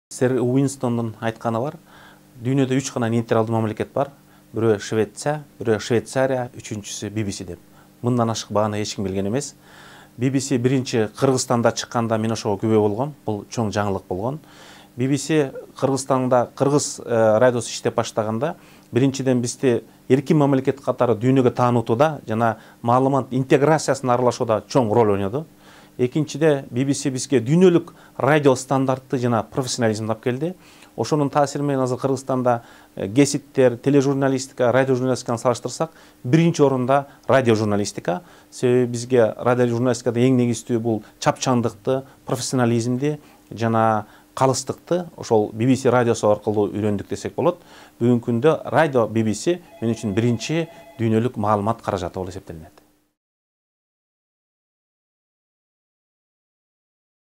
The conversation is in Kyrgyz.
Сэр Уинстондун айтканы бар. Дүйнөдө 3 гана нейтралдуу мамлекет бар. Бирөө Швеция, бирөө Швейцария, үчүнчүсү BBC деп. Мындан ашык бааны эч ким билген эмес. BBC биринчи Кыргызстанда чыкканда мен ошого күбө болгом. Бул чоң жаңылык болгон. BBC Кыргызстанда кыргыз радиосу иштеп баштаганда биринчиден бизди эркин мамлекет катары дүйнөгө таануутуда жана маалымат интеграциясына аралашууда чоң роль ойноду. Экинчиде BBC бизге дүйнөлүк радио стандартты жана профессионализмди алып келди. Ошонун таасири менен азыр Кыргызстанда гезиттер, тележурналистика, радиожурналистиканы салыштырсак, биринчи орунда радиожурналистика. Себеби бизге радиожурналистикада эң негизгиси бул чапчандыкты, профессионализмди жана калыстыкты ошол BBC радиосу аркылуу үйрөндүк десек болот. Бүгүнкү күндө радио BBC мен үчүн биринчи дүйнөлүк маалымат каражаты болуп эсептелинет.